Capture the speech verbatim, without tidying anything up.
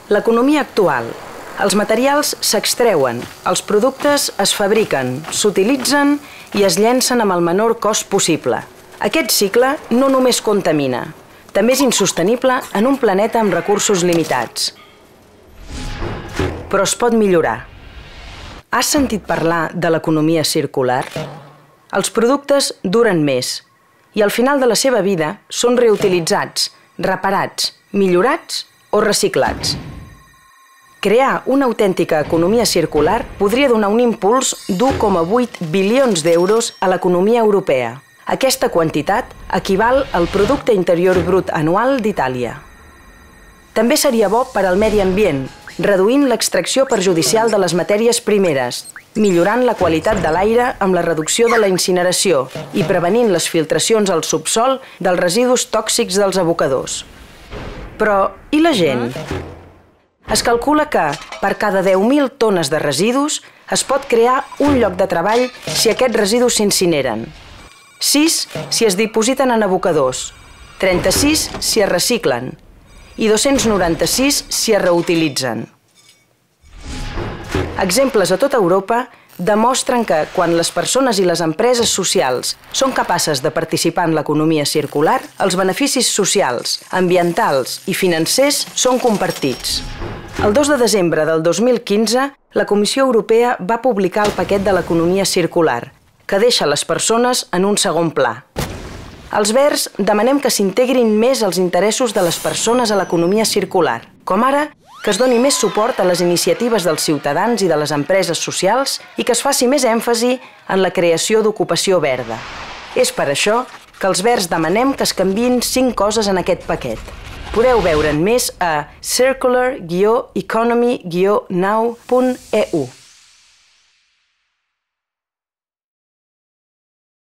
L'economia actual. Els materials s'extreuen, els productes es fabriquen, s'utilitzen i es llencen amb el menor cost possible. Aquest cicle no només contamina, també és insostenible en un planeta amb recursos limitats. Però es pot millorar. Has sentit parlar de l'economia circular? Els productes duren més i al final de la seva vida són reutilitzats, reparats, millorats o reciclats. Crear una autèntica economia circular podria donar un impuls d'u coma vuit bilions d'euros a l'economia europea. Aquesta quantitat equival al Producte Interior Brut anual d'Itàlia. També seria bo per al medi ambient, reduint l'extracció perjudicial de les matèries primeres, millorant la qualitat de l'aire amb la reducció de la incineració i prevenint les filtracions al subsòl dels residus tòxics dels abocadors. Però, i la gent? Es calcula que, per cada deu mil tones de residus, es pot crear un lloc de treball si aquests residus s'incineren. sis si es dipositen en abocadors, trenta-sis si es reciclen i dos-cents noranta-sis si es reutilitzen. Exemples a tota Europa demostren que, quan les persones i les empreses socials són capaces de participar en l'economia circular, els beneficis socials, ambientals i financers són compartits. El dos de desembre del dos mil quinze, la Comissió Europea va publicar el paquet de l'economia circular, que deixa les persones en un segon pla. Els Verds demanem que s'integrin més els interessos de les persones a l'economia circular, com ara que es doni més suport a les iniciatives dels ciutadans i de les empreses socials i que es faci més èmfasi en la creació d'ocupació verda. És per això que els Verds demanem que es canviïn cinc coses en aquest paquet. Podeu veure'n més a circular guió economy guió now punt e u.